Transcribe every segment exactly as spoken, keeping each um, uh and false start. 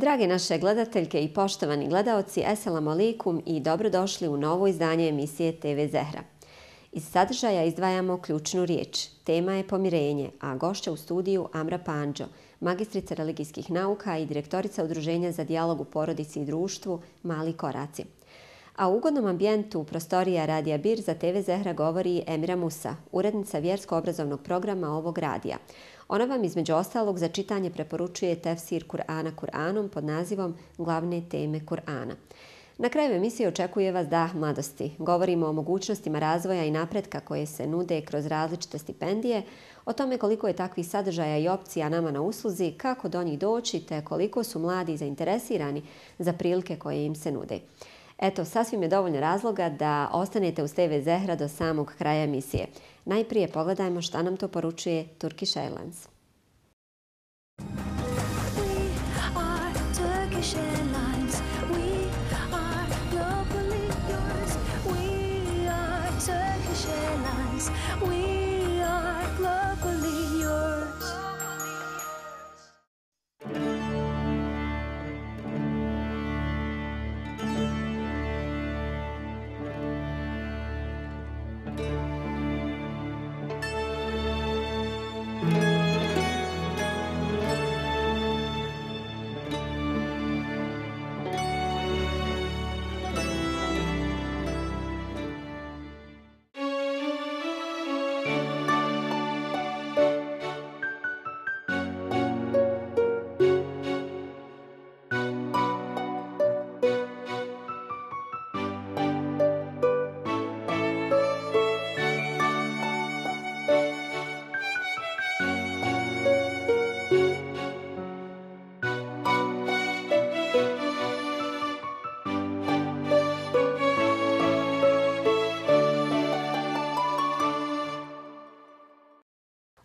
Drage naše gledateljke i poštovani gledaoci, eselamu alaikum i dobrodošli u novo izdanje emisije te ve Zehra. Iz sadržaja izdvajamo ključnu riječ. Tema je pomirenje, a gošća u studiju Amra Pandžo, magistrica religijskih nauka i direktorica Udruženja za dijalog u porodici i društvu Mali koraci. A u ugodnom ambijentu prostorija Radija Bir za te ve Zehra govori Emira Musa, urednica vjersko-obrazovnog programa ovog radija. Ona vam između ostalog za čitanje preporučuje tefsir Kur'ana Kur'anom pod nazivom Glavne teme Kur'ana. Na kraju emisije očekuje vas dah mladosti. Govorimo o mogućnostima razvoja i napretka koje se nude kroz različite stipendije, o tome koliko je takvih sadržaja i opcija nama na usluzi, kako do njih doći te koliko su mladi zainteresirani za prilike koje im se nude. Eto, sasvim je dovoljno razloga da ostanete uz te ve Zehra do samog kraja emisije. Najprije pogledajmo šta nam to poručuje Turkish Airlines.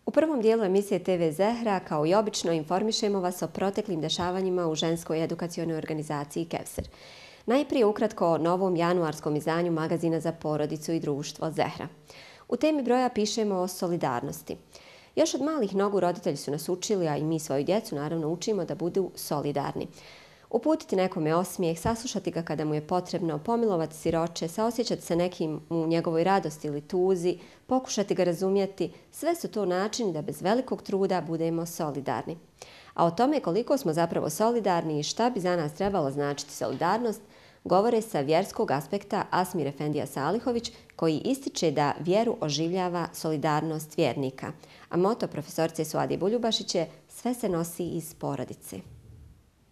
U prvom dijelu emisije te ve Zehra, kao i obično, informišemo vas o proteklim dešavanjima u ženskoj edukacionoj organizaciji Kevser. Najprije ukratko o novom januarskom izdanju magazina za porodicu i društvo Zehra. U temi broja pišemo o solidarnosti. Još od malih nogu roditelji su nas učili, a i mi svoju djecu naravno učimo da budu solidarni. Uputiti nekome osmijeh, saslušati ga kada mu je potrebno, pomilovati siroče, saosjećati se nekim u njegovoj radosti ili tuzi, pokušati ga razumjeti, sve su to načini da bez velikog truda budemo solidarni. A o tome koliko smo zapravo solidarni i šta bi za nas trebalo značiti solidarnost, govore sa vjerskog aspekta Asmir Efendija Salihović, koji ističe da vjeru oživljava solidarnost vjernika. A moto profesorice Suadije Buljubašić je sve se nosi iz porodice.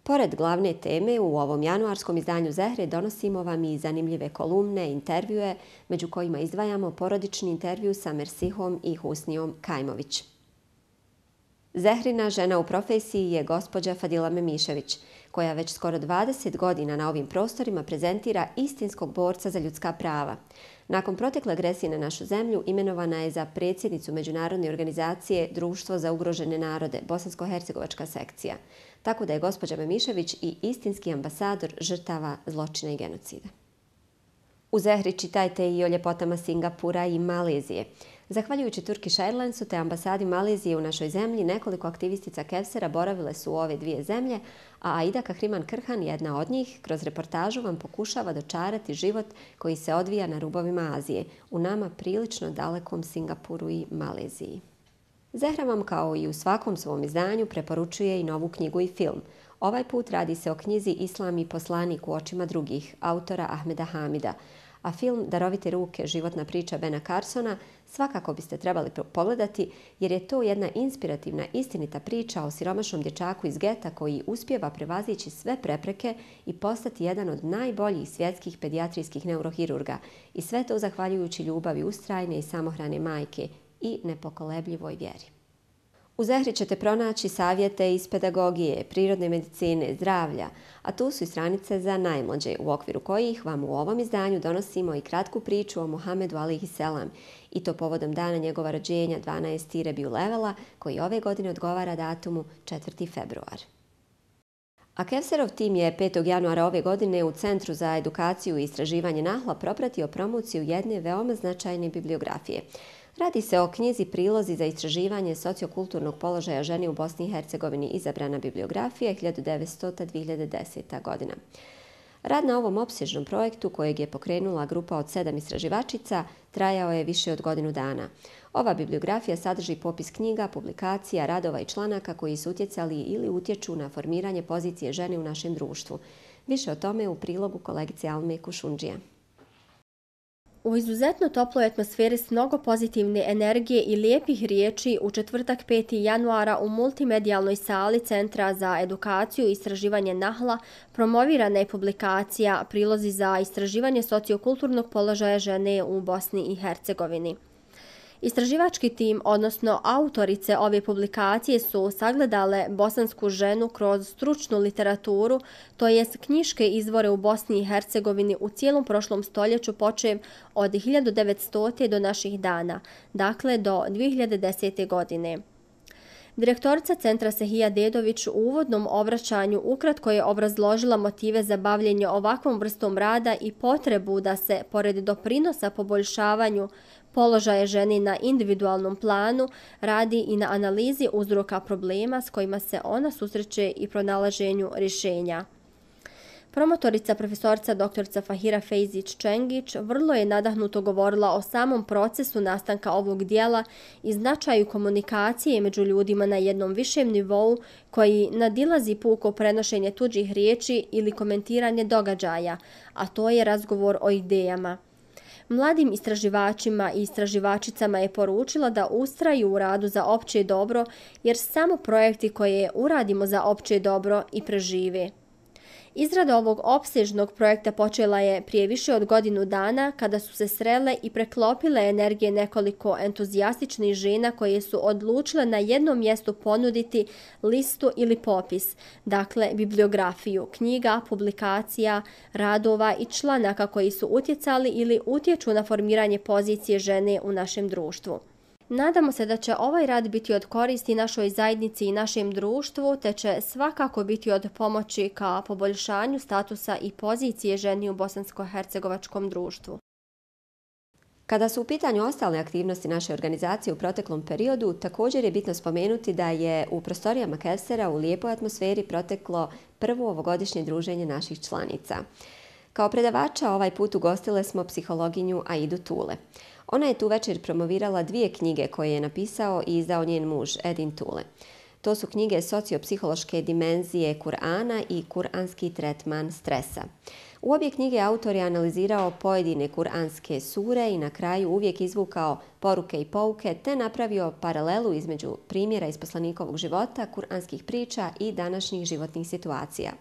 Pored glavne teme, u ovom januarskom izdanju Zehre donosimo vam i zanimljive kolumne, intervjue, među kojima izdvajamo porodični intervju sa Mersihom i Husnijom Kajmović. Zehrina žena u profesiji je gospođa Fadila Memišević, koja već skoro dvadeset godina na ovim prostorima prezentira istinskog borca za ljudska prava. Nakon protekle agresije na našu zemlju imenovana je za predsjednicu međunarodne organizacije Društvo za ugrožene narode, Bosansko-hercegovačka sekcija. Tako da je gospođa Memišević i istinski ambasador žrtava zločina i genocida. U Zehri čitajte i o ljepotama Singapura i Malezije. Zahvaljujući Turkish Airlinesu te ambasadi Malezije u našoj zemlji, nekoliko aktivistica Kevsera boravile su u ove dvije zemlje, a Aida Kahriman Krhan, jedna od njih, kroz reportažu vam pokušava dočarati život koji se odvija na rubovima Azije, u nama prilično dalekom Singapuru i Maleziji. Zehra vam, kao i u svakom svom izdanju, preporučuje i novu knjigu i film. Ovaj put radi se o knjizi Islam i poslanik u očima drugih, autora Ahmeda Hamida, a film Darovite ruke, životna priča Bena Carsona svakako biste trebali pogledati jer je to jedna inspirativna, istinita priča o siromašnom dječaku iz geta koji uspijeva prevazići sve prepreke i postati jedan od najboljih svjetskih pedijatrijskih neurohirurga i sve to zahvaljujući ljubavi ustrajne i samohrane majke i nepokolebljivoj vjeri. U Zehri ćete pronaći savjete iz pedagogije, prirodne medicine, zdravlja, a tu su i stranice za najmlađe, u okviru kojih vam u ovom izdanju donosimo i kratku priču o Muhamedu alejhi selam, i to povodom dana njegova rođenja dvanaesti Rebiul Evela, koji ove godine odgovara datumu četvrti februar. A Kevserov tim je petog januara ove godine u Centru za edukaciju i istraživanje Nahla propratio promociju jedne veoma značajne bibliografije. Radi se o knjizi Prilozi za istraživanje sociokulturnog položaja žene u Bosni i Hercegovini, izabrana bibliografija hiljadu devetstota do dvije hiljade desete. godina. Rad na ovom opsežnom projektu, kojeg je pokrenula grupa od sedam istraživačica, trajao je više od godinu dana. Ova bibliografija sadrži popis knjiga, publikacija, radova i članaka koji su utjecali ili utječu na formiranje pozicije žene u našem društvu. Više o tome u prilogu kolegice Alme Kušundžija. U izuzetno toploj atmosferi s mnogo pozitivne energije i lijepih riječi u četvrtak peti januara u multimedijalnoj sali Centra za edukaciju i istraživanje Nahla promovirana je publikacija Prilozi za istraživanje sociokulturnog položaja žene u Bosni i Hercegovini. Istraživački tim, odnosno autorice ove publikacije, su sagledale bosansku ženu kroz stručnu literaturu, to jest knjiške izvore u Bosni i Hercegovini u cijelom prošlom stoljeću počev od hiljadu devetstote. do naših dana, dakle do dvije hiljade desete. godine. Direktorica centra Sehija Dedović u uvodnom obraćanju ukratko je obrazložila motive za bavljenje ovakvom vrstom rada i potrebu da se, pored doprinosa poboljšavanju položaja žene na individualnom planu, radi i na analizi uzroka problema s kojima se ona susreće i pronalaženju rješenja. Promotorica profesorica doktorica Fahira Fejzić-Čengić vrlo je nadahnuto govorila o samom procesu nastanka ovog dijela i značaju komunikacije među ljudima na jednom višem nivou koji nadilazi puko prenošenje tuđih riječi ili komentiranje događaja, a to je razgovor o idejama. Mladim istraživačima i istraživačicama je poručila da ustraju u radu za opće dobro, jer samo projekti koje uradimo za opće dobro i prežive. Izrada ovog opsežnog projekta počela je prije više od godinu dana kada su se srele i preklopile energije nekoliko entuzijastičnih žena koje su odlučile na jednom mjestu ponuditi listu ili popis, dakle bibliografiju, knjiga, publikacija, radova i članaka koji su utjecali ili utječu na formiranje pozicije žene u našem društvu. Nadamo se da će ovaj rad biti od koristi našoj zajednici i našem društvu, te će svakako biti od pomoći ka poboljšanju statusa i pozicije ženi u bosansko-hercegovačkom društvu. Kada su u pitanju ostale aktivnosti naše organizacije u proteklom periodu, također je bitno spomenuti da je u prostorijama Kevsera u lijepoj atmosferi proteklo prvo ovogodišnje druženje naših članica. Kao predavača ovaj put ugostile smo psihologinju Aidu Tule. Ona je tu večer promovirala dvije knjige koje je napisao i izdao njen muž Edin Tule. To su knjige Sociopsihološke dimenzije Kur'ana i Kur'anski tretman stresa. U obje knjige autor je analizirao pojedine kuranske sure i na kraju uvijek izvukao poruke i pouke te napravio paralelu između primjera iz poslanikovog života, kuranskih priča i današnjih životnih situacija.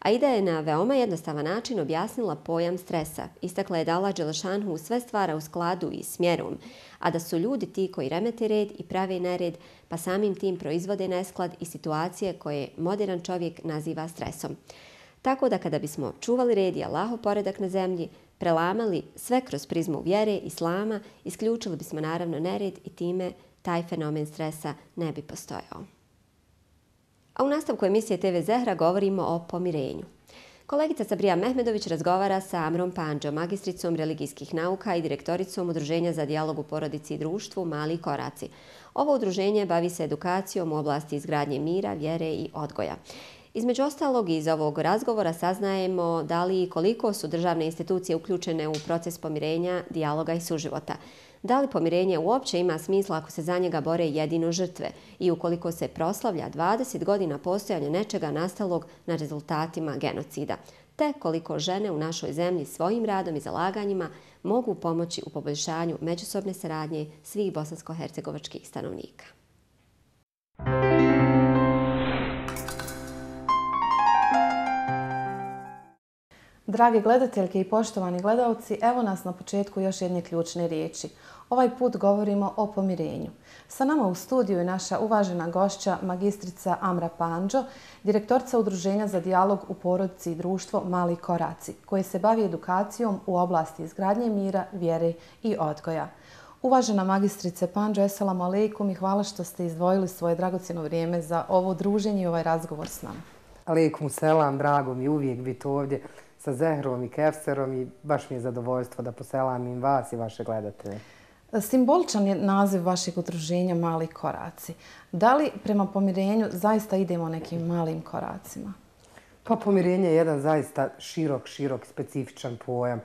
Aida je na veoma jednostavan način objasnila pojam stresa. Istakla je da Allah Đelešanhu sve stvara u skladu i smjerom, a da su ljudi ti koji remete red i prave nered, pa samim tim proizvode nesklad i situacije koje modern čovjek naziva stresom. Tako da kada bismo čuvali red i Allahov poredak na zemlji, prelamali sve kroz prizmu vjere, islama, isključili bismo naravno nered i time taj fenomen stresa ne bi postojao. A u nastavku emisije te ve Zehra govorimo o pomirenju. Kolegica Sabrija Mehmedović razgovara sa Amrom Pandžom, magistricom religijskih nauka i direktoricom Udruženja za dijalog u porodici i društvu Mali koraci. Ovo udruženje bavi se edukacijom u oblasti izgradnje mira, vjere i odgoja. Između ostalog, iz ovog razgovora saznajemo da li i koliko su državne institucije uključene u proces pomirenja, dijaloga i suživota. Da li pomirenje uopće ima smisla ako se za njega bore jedino žrtve i ukoliko se proslavlja dvadeset godina postojanja nečega nastalog na rezultatima genocida, te koliko žene u našoj zemlji svojim radom i zalaganjima mogu pomoći u poboljšanju međusobne saradnje svih bosansko-hercegovačkih stanovnika. Drage gledateljke i poštovani gledalci, evo nas na početku još jedne ključne riječi. Ovaj put govorimo o pomirenju. Sa nama u studiju je naša uvažena gošća, magistrica Amra Pandžo, direktorica Udruženja za dijalog u porodici i društvo Mali koraci, koje se bavi edukacijom u oblasti izgradnje mira, vjere i odgoja. Uvažena magistrice Pandžo, eselamu alejkum i hvala što ste izdvojili svoje dragocjeno vrijeme za ovo druženje i ovaj razgovor s nama. Alejkum selam, drago mi uvijek biti ovdje sa Zehrom i Kevserom i baš mi je zadovoljstvo da poselamim vas i vaše gledatelje. Simboličan je naziv vašeg udruženja Mali koraci. Da li prema pomirenju zaista idemo nekim malim koracima? Pa pomirenje je jedan zaista širok, širok, specifičan pojam.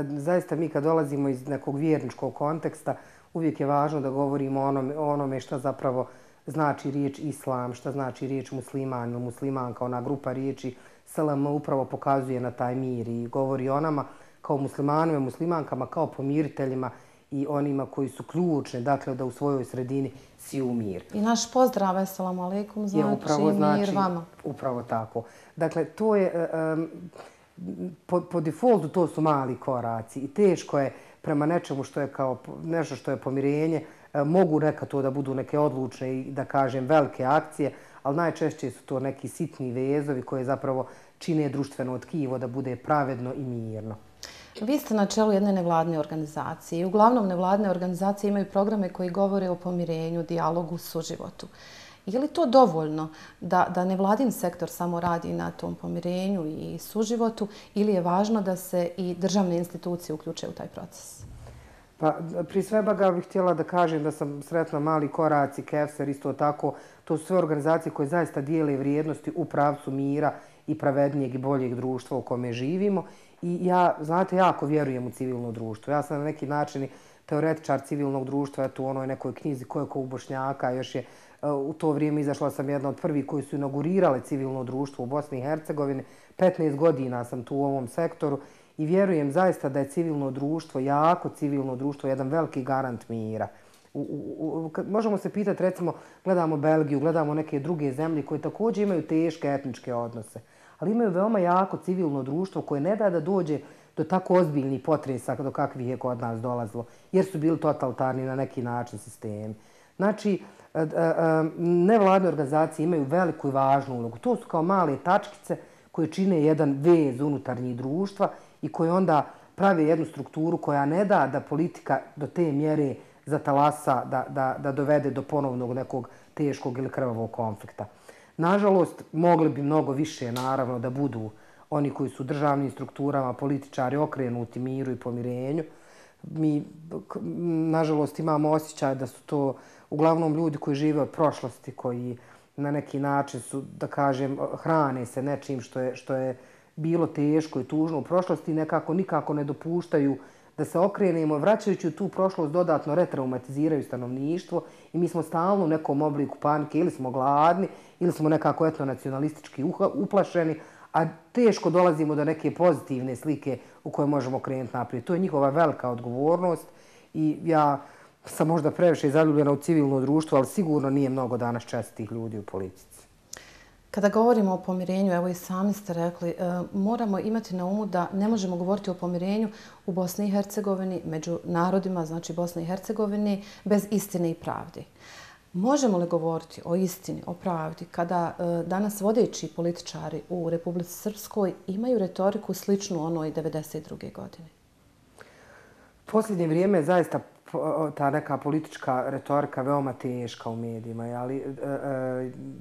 Zaista mi kad dolazimo iz nekog vjerničkog konteksta, uvijek je važno da govorimo o onome, o onome šta zapravo znači riječ islam, šta znači riječ musliman ili muslimanka, ona grupa riječi S L M upravo pokazuje na taj mir i govori o nama kao muslimanima, muslimankama, kao pomiriteljima i onima koji su ključni, dakle da u svojoj sredini si u mir. I naš pozdrav, assalamu alaikum, znači, upravo znači mir vama. Upravo tako. Dakle, to je, um, po, po defaultu to su mali koraci i teško je prema nečemu što je kao nešto što je pomirenje, mogu neka to da budu neke odlučne i da kažem velike akcije, ali najčešće su to neki sitni vezovi koje zapravo čine društveno tkivo da bude pravedno i mirno. Vi ste na čelu jedne nevladne organizacije i uglavnom nevladne organizacije imaju programe koji govore o pomirenju, dijalogu, suživotu. Je li to dovoljno da, da nevladin sektor samo radi na tom pomirenju i suživotu ili je važno da se i državne institucije uključe u taj proces? Pa, prije svega bih htjela da kažem da sam sretna Mali koraci, Kevser, isto tako. To su sve organizacije koje zaista dijele vrijednosti u pravcu mira i pravednijeg i boljeg društva u kome živimo. I ja, znate, jako vjerujem u civilno društvo. Ja sam na neki način teoretičar civilnog društva, eto u onoj nekoj knjizi Ko je ko u Bošnjaka, još je u to vrijeme izašla sam jedna od prvih koji su inaugurirale civilno društvo u Bosni i Hercegovini. petnaest godina sam tu u ovom sektoru i vjerujem zaista da je civilno društvo, jako civilno društvo, jedan veliki garant mira. U, u, u, možemo se pitati, recimo, gledamo Belgiju, gledamo neke druge zemlje koje također imaju teške etničke odnose, ali imaju veoma jako civilno društvo koje ne da da dođe do tako ozbiljnih potresa do kakvih je kod nas dolazilo, jer su bili totalitarni na neki način sistemi. Znači, nevladne organizacije imaju veliku i važnu ulogu. To su kao male tačkice koje čine jedan vez unutarnjih društva i koje onda prave jednu strukturu koja ne da da politika do te mjere zatalasa, da, da, da dovede do ponovnog nekog teškog ili krvavog konflikta. Nažalost, mogli bi mnogo više, naravno, da budu oni koji su u državnim strukturama, političari okrenuti miru i pomirenju. Mi, nažalost, imamo osjećaj da su to uglavnom ljudi koji žive od prošlosti, koji na neki način su, da kažem, hrane se nečim što je, što je bilo teško i tužno u prošlosti i nekako nikako ne dopuštaju da se okrenemo, vraćajući u tu prošlost dodatno retraumatiziraju stanovništvo i mi smo stalno u nekom obliku panike, ili smo gladni, ili smo nekako etnonacionalistički uplašeni, a teško dolazimo do neke pozitivne slike u kojoj možemo krenuti naprijed. To je njihova velika odgovornost i ja sam možda previše zaljubljena u civilno društvo, ali sigurno nije mnogo danas čestitih ljudi u politici. Kada govorimo o pomirenju, evo i sami ste rekli, moramo imati na umu da ne možemo govoriti o pomirenju u Bosni i Hercegovini, među narodima, znači Bosni i Hercegovini, bez istine i pravdi. Možemo li govoriti o istini, o pravdi, kada danas vodeći političari u Republici Srpskoj imaju retoriku sličnu onoj devedeset druge godine? Posljednje vrijeme je zaista ta neka politička retorika veoma teška u medijima, ali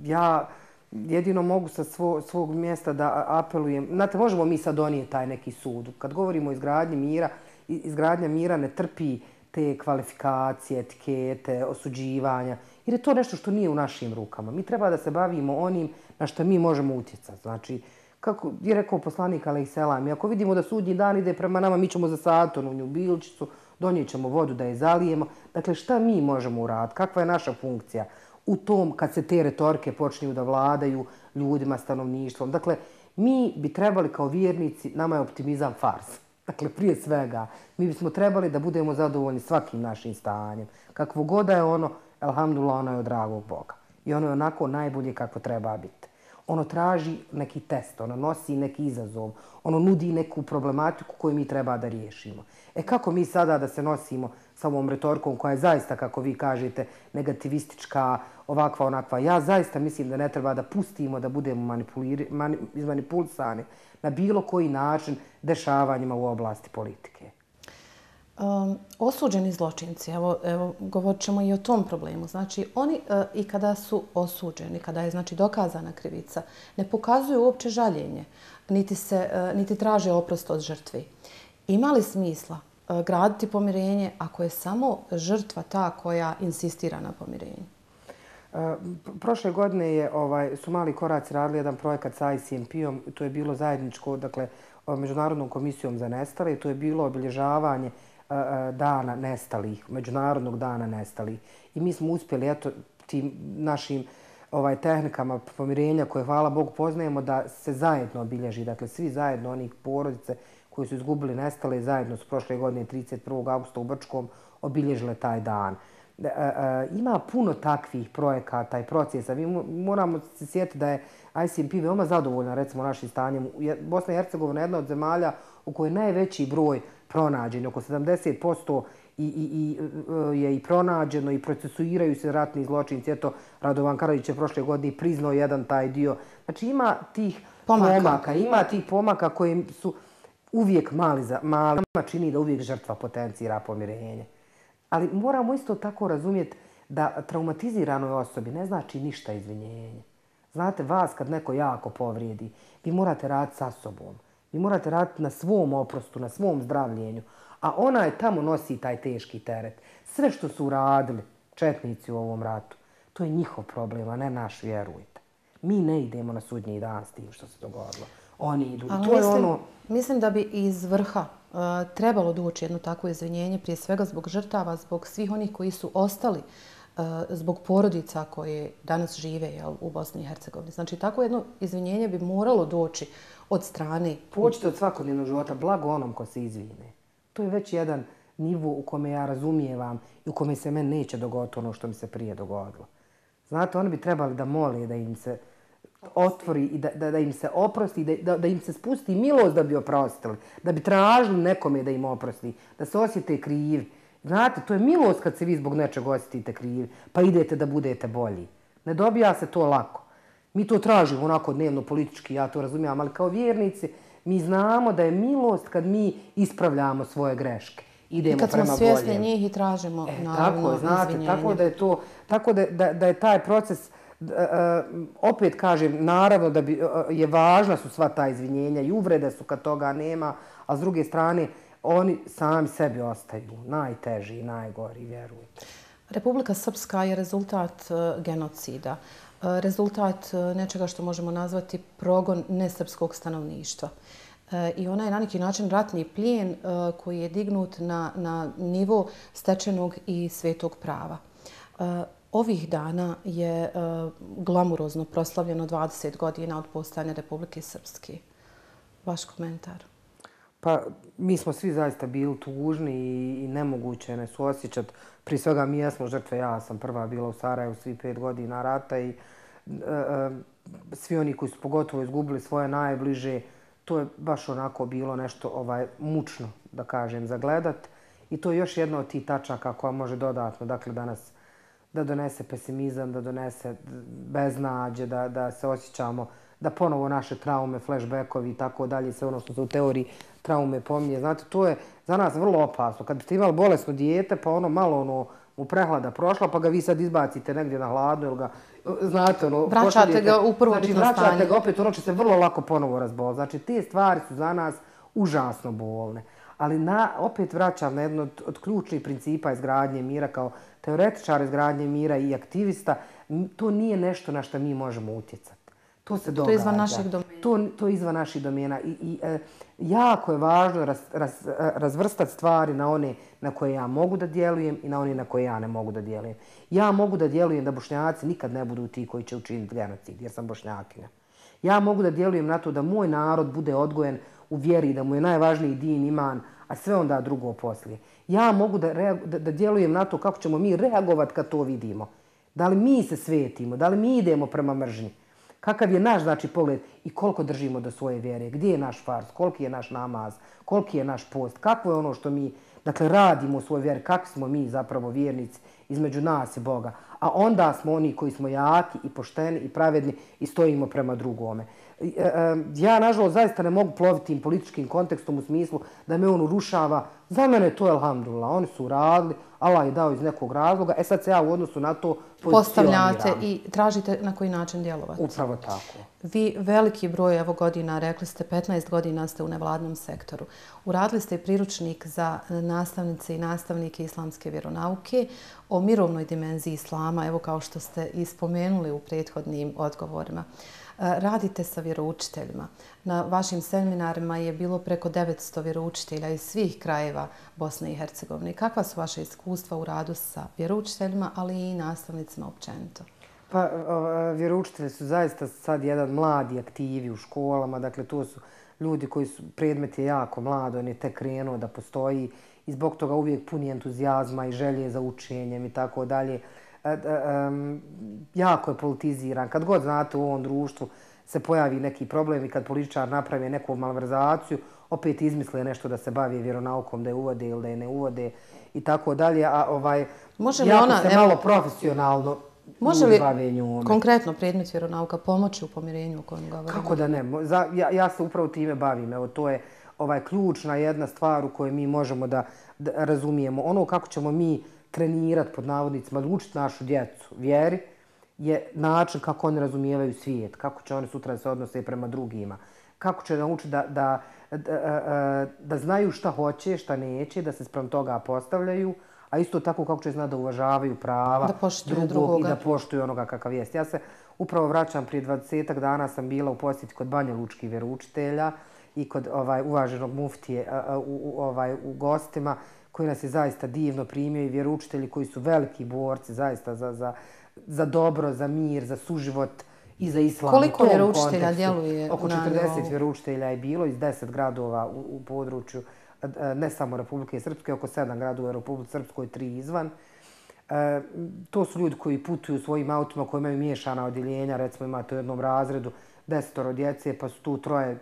ja jedino mogu sa svog mjesta da apelujem. Znate, možemo mi sad donijeti taj neki sud. Kad govorimo o izgradnji mira, izgradnja mira ne trpi te kvalifikacije, etikete, osuđivanja, jer je to nešto što nije u našim rukama. Mi treba da se bavimo onim na što mi možemo utjecati. Znači, kako je rekao poslanik alejselam, ako vidimo da sudnji dan ide prema nama, mi ćemo zasaditi onu nju bilčicu, donijet ćemo vodu da je zalijemo. Dakle, šta mi možemo uraditi? Kakva je naša funkcija u tom kad se te retorike počinju da vladaju ljudima, stanovništvom? Dakle, mi bi trebali kao vjernici, nama je optimizam fars. Dakle, prije svega, mi bismo trebali da budemo zadovoljni svakim našim stanjem. Kakvo god da je ono, elhamdulillah, ono je od dragog Boga. I ono je onako najbolje kako treba biti. Ono traži neki test, ono nosi neki izazov, ono nudi neku problematiku koju mi treba da riješimo. E kako mi sada da se nosimo sa ovom retorikom koja je zaista, kako vi kažete, negativistička, ovakva, onakva? Ja zaista mislim da ne treba da pustimo da budemo mani, izmanipulisani na bilo koji način dešavanjima u oblasti politike. Um, osuđeni zločinci, evo, evo govorit ćemo i o tom problemu. Znači, oni uh, i kada su osuđeni, kada je znači dokazana krivica, ne pokazuju uopće žaljenje, niti, se, uh, niti traže oprost od žrtvi. Ima li smisla graditi pomirenje ako je samo žrtva ta koja insistira na pomirenju? Prošle godine je, ovaj, su Mali koraci radili jedan projekat sa I C M P-om. To je bilo zajedničko, dakle, Međunarodnom komisijom za nestale. To je bilo obilježavanje dana nestalih, Međunarodnog dana nestalih. I mi smo uspjeli, eto, tim našim ovaj, tehnikama pomirenja koje, hvala Bogu, poznajemo, da se zajedno obilježi. Dakle, svi zajedno, onih porodice koji su izgubili nestale, zajedno su prošle godine trideset prvog augusta u Brčkom obilježile taj dan. Ima puno takvih projekata i procesa. Mi moramo se sjetiti da je I C M P veoma zadovoljna, recimo, našim stanjem. Bosna i Hercegovina je jedna od zemalja u kojoj je najveći broj pronađen, oko sedamdeset posto i, i, i, je i pronađeno i procesuiraju se ratni zločinci. Eto, Radovan Karadžić je prošle godine priznao jedan taj dio. Znači, ima tih pomaka, pomaka ima tih pomaka koji su uvijek mali, za, mali čini da uvijek žrtva potencira pomirenje. Ali moramo isto tako razumjeti da traumatiziranoj osobi ne znači ništa izvinjenje. Znate, vas kad neko jako povrijedi, vi morate raditi sa sobom. Vi morate raditi na svom oprostu, na svom zdravljenju. A ona je tamo nosi taj teški teret. Sve što su uradili četnici u ovom ratu, to je njihov problem, a ne naš, vjerujte. Mi ne idemo na sudnji dan s tim što se dogodilo. Oni idu. Ali to mislim, je ono... mislim da bi iz vrha uh, trebalo doći jedno takvo izvinjenje, prije svega zbog žrtava, zbog svih onih koji su ostali, uh, zbog porodica koje danas žive, jel, u Bosni i Hercegovini. Znači, tako jedno izvinjenje bi moralo doći od strane... Počite od svakodnevnog života, blago onom ko se izvine. To je već jedan nivo u kome ja razumijevam i u kome se meni neće dogoditi ono što mi se prije dogodilo. Znate, oni bi trebali da mole da im se otvori i da, da, da im se oprosti, da, da, da im se spusti milost da bi oprostili, da bi tražili nekome da im oprosti, da se osjete krivi. Znate, to je milost kad se vi zbog nečeg osjetite krivi, pa idete da budete bolji. Ne dobija se to lako. Mi to tražimo onako dnevno politički, ja to razumijem, ali kao vjernici mi znamo da je milost kad mi ispravljamo svoje greške. Idemo prema boljem. I kad smo svjesni njih i tražimo, e, naravno, tako, znate, izvinjenje. Tako da je to, tako da, da, da je taj proces, uh, opet kažem, naravno da bi, uh, je važna su sva ta izvinjenja i uvrede su kad toga nema, a s druge strane oni sami sebi ostaju najteži i najgori, vjerujte. Republika Srpska je rezultat uh, genocida. Rezultat nečega što možemo nazvati progon nesrpskog stanovništva. I ona je na neki način ratni plijen koji je dignut na, na nivo stečenog i svetog prava. Ovih dana je glamurozno proslavljeno dvadeset godina od postojanja Republike Srpske. Vaš komentar? Pa mi smo svi zaista bili tužni i, i nemoguće ne suosjećati. Prije svega mi jesmo žrtve, ja sam prva bila u Sarajevu svi pet godina rata i e, e, svi oni koji su pogotovo izgubili svoje najbliže, to je baš onako bilo nešto ovaj mučno, da kažem, za gledat. I to je još jedna od tih tačaka koja može dodatno, dakle, danas da donese pesimizam, da donese beznađe, da, da se osjećamo, da ponovo naše traume, flashbackovi i tako dalje, sve ono što se u teoriji traume pominje. Znate, to je za nas vrlo opasno. Kad ste imali bolesno dijete, pa ono malo ono mu prehlada prošla, pa ga vi sad izbacite negdje na hladno, ili ga, znate, ono... Vraćate ga u prvobitno znači, stanje. Vraćate ga opet, ono će se vrlo lako ponovo razboliti. Znači, te stvari su za nas užasno bolne. Ali na, opet vraćam na jedno od, od ključnih principa izgradnje mira, kao teoretičar izgradnje mira i aktivista, to nije nešto na što mi možemo utjecati. To se događa. To je izvan naših domena. To, to je izvan naših domena. I, i e, jako je važno raz, raz, razvrstati stvari na one na koje ja mogu da djelujem i na one na koje ja ne mogu da djelujem. Ja mogu da djelujem da Bošnjaci nikad ne budu ti koji će učiniti genocid, jer sam Bošnjakinja. Ja mogu da djelujem na to da moj narod bude odgojen u vjeri, da mu je najvažniji din iman, a sve onda drugo poslije. Ja mogu da, da, da djelujem na to kako ćemo mi reagovati kad to vidimo. Da li mi se svetimo, da li mi idemo prema mržnji. Kakav je naš, znači, pogled i koliko držimo do svoje vjere, gdje je naš fars, koliki je naš namaz, koliki je naš post, kakvo je ono što mi, dakle, radimo u svojoj vjeri, kakvi smo mi zapravo vjernici između nas i Boga. A onda smo oni koji smo jaki i pošteni i pravedni i stojimo prema drugome. Ja, nažalost, zaista ne mogu ploviti tim političkim kontekstom u smislu da me on urušava. Za mene to je alhamdulillah. Oni su uradili, Allah je dao iz nekog razloga, e sad se ja u odnosu na to postavljate i tražite na koji način djelovati. Upravo tako. Vi veliki broj evo godina, rekli ste petnaest godina ste u nevladnom sektoru. Uradili ste i priručnik za nastavnice i nastavnike islamske vjeronauke o mirovnoj dimenziji islama, evo kao što ste i spomenuli u prethodnim odgovorima. Radite sa vjeroučiteljima. Na vašim seminarima je bilo preko devetsto vjeroučitelja iz svih krajeva Bosne i Hercegovine. Kakva su vaše iskustva u radu sa vjeroučiteljima, ali i nastavnicima općenito? Pa, vjeroučitelji su zaista sad jedan mladi aktivi u školama. Dakle, to su ljudi koji su, predmet je jako mlado, on je tek krenuo da postoji i zbog toga uvijek puni entuzijazma i želje za učenjem i tako dalje. Jako je politiziran. Kad god znate u ovom društvu se pojavi neki problem i kad političar napravi neku malverzaciju, opet izmisle nešto da se bavi vjeronaukom, da je uvode ili da je ne uvode i tako dalje. A ovaj, jako se malo profesionalno može li konkretno predmet vjeronauka pomoći u pomirenju o kojem govorimo? Kako da ne? Ja, ja se upravo time bavim. Evo, to je ovaj, ključna jedna stvar u kojoj mi možemo da, da razumijemo. Ono kako ćemo mi trenirati, pod navodnicima, da učiti našu djecu vjeri, je način kako oni razumijevaju svijet, kako će oni sutra da se odnose prema drugima, kako će naučiti da, da, da, da znaju šta hoće, šta neće, da se sprem toga postavljaju, a isto tako kako će znati da uvažavaju prava drugog drugoga. I da poštuju onoga kakav jest. Ja se upravo vraćam, prije dvadesetak dana sam bila u posjeti kod Banja Lučkih vjeroučitelja i kod ovaj, uvaženog muftije u, u, ovaj, u gostima, koji nas je zaista divno primio i vjeroučitelji koji su veliki borci zaista za, za, za dobro, za mir, za suživot i za islam. Koliko vjeroučitelja djeluje? Oko četrdeset vjeroučitelja je bilo iz deset gradova u, u području ne samo Republike Srpske, oko sedam gradova u Republike Srpskoj, tri izvan. E, to su ljudi koji putuju svojim autima, koji imaju miješana odjeljenja, recimo imate u jednom razredu desetoro djece, pa su tu troje,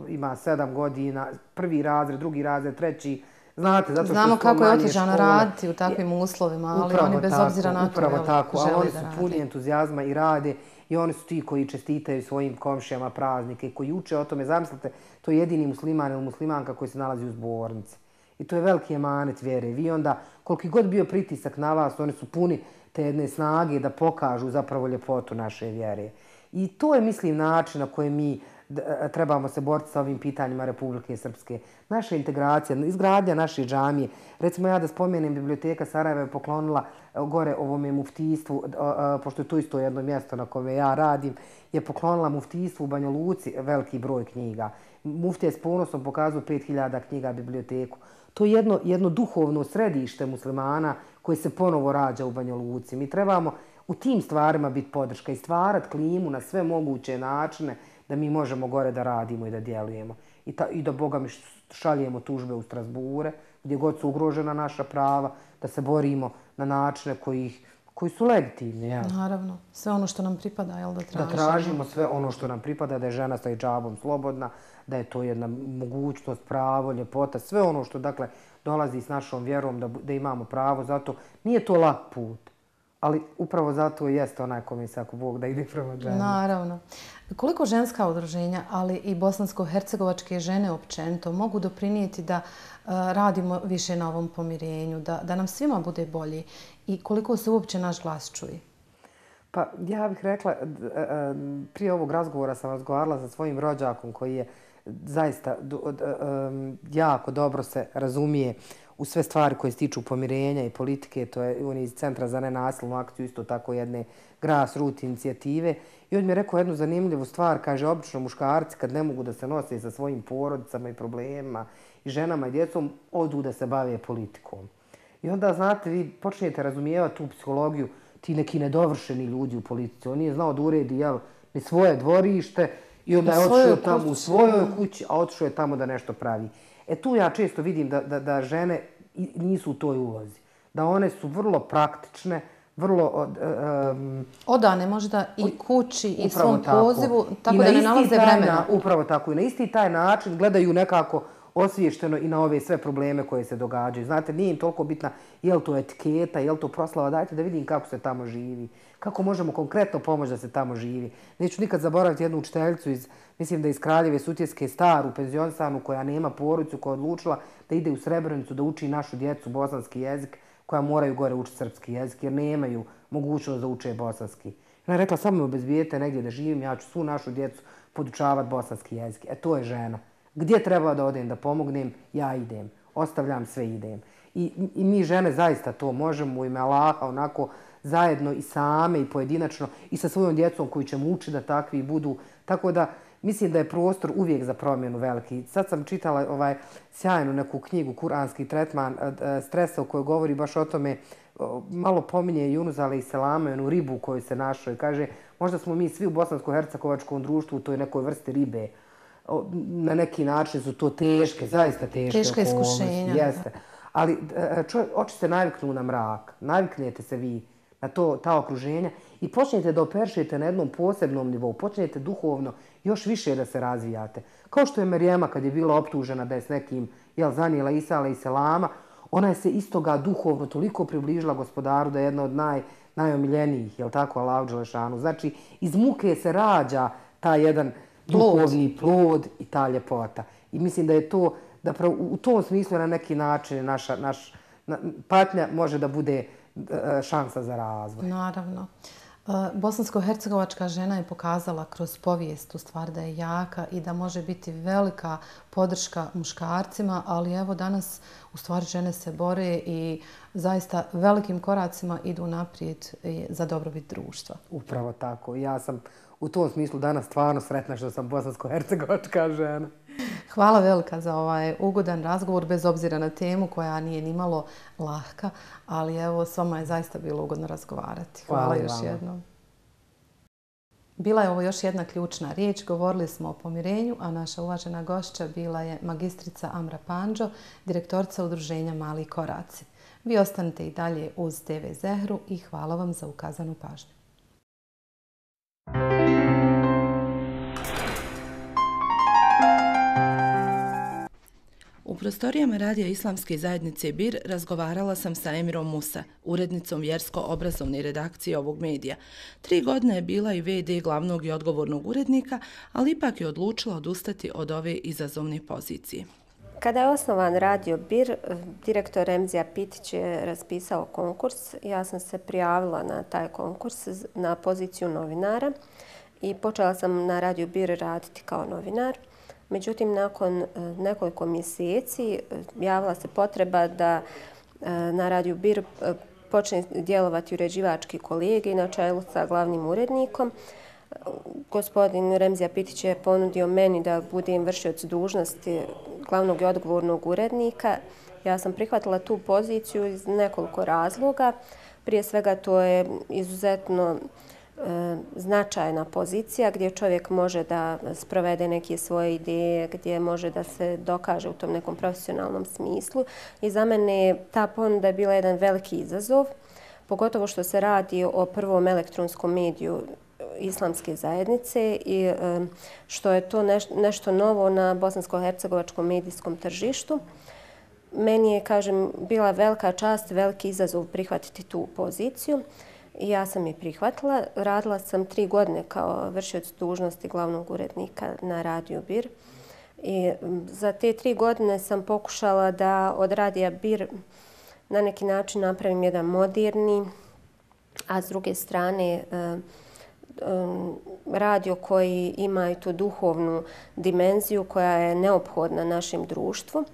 ima sedam godina, prvi razred, drugi razred, treći. Znate, zato što znamo kako je otežano raditi u takvim uslovima, ali upravo oni bez tako, obzira na to upravo jel, tako, žele ali oni da su radi. puni entuzijazma i rade i oni su ti koji čestitaju svojim komšijama praznike, koji uče o tome. Zamislite, to je jedini musliman ili muslimanka koji se nalazi u zbornici. I to je veliki emanet vjere. Vi onda, koliki god bio pritisak na vas, oni su puni te jedne snage da pokažu zapravo ljepotu naše vjere. I to je, mislim, način na koji mi trebamo se boriti sa ovim pitanjima Republike Srpske. Naša integracija, izgradnja naše džamije. Recimo ja da spomenem, Biblioteka Sarajeva je poklonila gore ovome muftijstvu, pošto je to isto jedno mjesto na kome ja radim, je poklonila muftijstvu u Banja Luci veliki broj knjiga. Muftija je s ponosom pokazao pet hiljada knjiga biblioteku. To je jedno, jedno duhovno središte muslimana koje se ponovo rađa u Banja Luci. Mi trebamo u tim stvarima biti podrška i stvarati klimu na sve moguće načine da mi možemo gore da radimo i da djelujemo. I, ta, i da, Boga mi, šaljemo tužbe u Strasbure, gdje god su ugrožena naša prava, da se borimo na načine koji, koji su legitimni. Ja. Naravno. Sve ono što nam pripada, jel da tražimo? Da tražimo sve ono što nam pripada, da je žena sa hidžabom slobodna, da je to jedna mogućnost, pravo, ljepota, sve ono što dakle dolazi s našom vjerom, da, da imamo pravo. Zato nije to lak put. Ali upravo zato jeste onaj kome se ako Bog da ide prema ženi. Naravno. Koliko ženska udruženja, ali i bosansko-hercegovačke žene općenito mogu doprinijeti da uh, radimo više na ovom pomirenju, da, da nam svima bude bolje i koliko se uopće naš glas čuje? Pa ja bih rekla, prije ovog razgovora sam razgovarala sa svojim rođakom koji je zaista jako dobro se razumije u sve stvari koje se tiču pomirenja i politike. To je on iz Centra za nenasilnu akciju, isto tako jedne grassroots inicijative. I on mi je rekao jednu zanimljivu stvar, kaže, obično muškarci kad ne mogu da se nose sa svojim porodicama i problemima i ženama i djecom, odu da se bave politikom. I onda, znate, vi počnete razumijevati tu psihologiju, ti neki nedovršeni ljudi u politici. On nije znao da uredi, jel, ni svoje dvorište i onda je otišao tamo u svojoj kući, a otišao je tamo da nešto pravi. E tu ja često vidim da, da, da žene nisu u toj ulozi. Da one su vrlo praktične, vrlo... Um, odane možda i kući i svom pozivu, tako da ne nalaze vremena. Upravo tako. I na isti taj način gledaju nekako osviješteno i na ove sve probleme koje se događaju. Znate, nije im toliko bitna je li to etiketa, je li to proslava. Dajte da vidim kako se tamo živi. Kako možemo konkretno pomoći da se tamo živi. Neću nikad zaboraviti jednu učiteljicu iz, mislim da iz Kraljeve Sutjeske, staru penzionisanu koja nema porodicu, koja je odlučila da ide u Srebrenicu da uči našu djecu bosanski jezik, koja moraju gore učiti srpski jezik jer nemaju mogućnost da uče bosanski. Ona je rekla, samo me obezbijete negdje da živim, ja ću svu našu djecu podučavati bosanski jezik. E to je žena. Gdje treba da odem da pomognem, ja idem. Ostavljam sve, idem. I, i mi žene zaista to možemo u ime Allaha onako zajedno i same i pojedinačno i sa svojom djecom koju ćemo učiti da takvi budu. Tako da mislim da je prostor uvijek za promjenu veliki. Sad sam čitala ovaj sjajnu neku knjigu, Kuranski tretman stresa, u kojoj govori baš o tome, malo pominje Junus alejselama, onu ribu koju se našao i kaže možda smo mi svi u bosansko-hercegovačkom društvu u toj nekoj vrsti ribe. Na neki način su to teške, zaista teške Teška iskušenja. Jeste. Ali oči se naviknu na mrak, naviknete se vi na to, ta okruženja i počnete da operšete na jednom posebnom nivou, počnete duhovno još više da se razvijate. Kao što je Merijema kad je bila optužena da je s nekim, jel, zanijela Isa alejselama, ona je se istoga duhovno toliko približila Gospodaru da je jedna od naj, najomiljenijih, jel tako, Allahu dželešanu. Znači, iz muke se rađa taj jedan duhovni plod i ta ljepota. I mislim da je to, da u tom smislu na neki način naša, naš, na, patnja može da bude šansa za razvoj. Naravno. Bosansko-hercegovačka žena je pokazala kroz povijest u stvari da je jaka i da može biti velika podrška muškarcima, ali evo danas u stvari žene se bore i zaista velikim koracima idu naprijed za dobrobit društva. Upravo tako. Ja sam u tom smislu danas stvarno sretna što sam bosansko-hercegovačka žena. Hvala velika za ovaj ugodan razgovor, bez obzira na temu koja nije nimalo lahka, ali evo, s vama je zaista bilo ugodno razgovarati. Hvala, Hvala još jednom. Bila je ovo još jedna ključna riječ. Govorili smo o pomirenju, a naša uvažena gošća bila je magistrica Amra Pandžo, direktorica udruženja Mali koraci. Vi ostanite i dalje uz te ve Zehru i hvala vam za ukazanu pažnju. U prostorijama radija Islamske zajednice Bir razgovarala sam sa Emirom Musa, urednicom vjersko-obrazovne redakcije ovog medija. Tri godine je bila i ve de glavnog i odgovornog urednika, ali ipak je odlučila odustati od ove izazovne pozicije. Kada je osnovan radio Bir, direktor Remzija Pitić je raspisao konkurs. Ja sam se prijavila na taj konkurs na poziciju novinara i počela sam na radio Bir raditi kao novinar. Međutim, nakon nekoliko mjeseci javila se potreba da na radiju Bir počne djelovati uređivački kolegi na čelu sa glavnim urednikom. Gospodin Remzija Pitić je ponudio meni da budem vršioc dužnosti glavnog i odgovornog urednika. Ja sam prihvatila tu poziciju iz nekoliko razloga. Prije svega to je izuzetno značajna pozicija gdje čovjek može da sprovede neke svoje ideje, gdje može da se dokaže u tom nekom profesionalnom smislu. I za mene je ta ponuda bila jedan veliki izazov, pogotovo što se radi o prvom elektronskom mediju Islamske zajednice i što je to nešto novo na bosansko-hercegovačkom medijskom tržištu. Meni je, kažem, bila velika čast, veliki izazov prihvatiti tu poziciju. I ja sam je prihvatila. Radila sam tri godine kao vršioc dužnosti glavnog urednika na radiju Bir. I za te tri godine sam pokušala da od radija Bir na neki način napravim jedan moderni, a s druge strane radio koji ima i tu duhovnu dimenziju koja je neophodna našem društvu.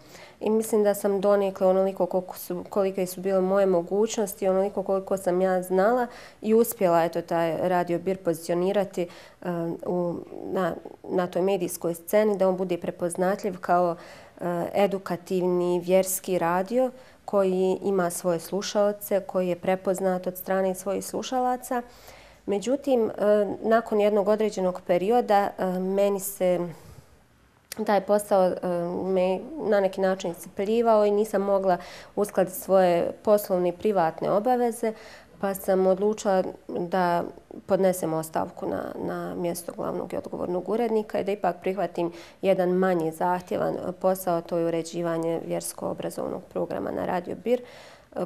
I mislim da sam donekle onoliko koliko su, kolike su bile moje mogućnosti, onoliko koliko sam ja znala i uspjela eto, taj radio Bir pozicionirati uh, u, na, na toj medijskoj sceni, da on bude prepoznatljiv kao uh, edukativni vjerski radio koji ima svoje slušaoce, koji je prepoznat od strane svojih slušalaca. Međutim, uh, nakon jednog određenog perioda uh, meni se taj posao me na neki način iscrpljivao i nisam mogla uskladiti svoje poslovne i privatne obaveze, pa sam odlučila da podnesem ostavku na, na mjesto glavnog i odgovornog urednika i da ipak prihvatim jedan manje zahtjevan posao, to je uređivanje vjersko-obrazovnog programa na Radio Bir,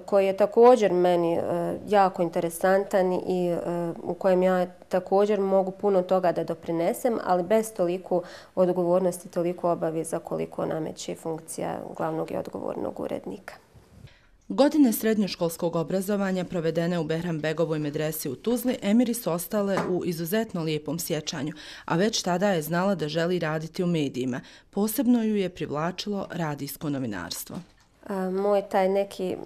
koji je također meni jako interesantan i u kojem ja također mogu puno toga da doprinesem, ali bez toliko odgovornosti, toliko obaveza koliko nameće funkcija glavnog i odgovornog urednika. Godine srednjoškolskog obrazovanja provedene u Behrambegovoj medresi u Tuzli Emiri su ostale u izuzetno lijepom sjećanju, a već tada je znala da želi raditi u medijima. Posebno ju je privlačilo radijsko novinarstvo. Moj taj neki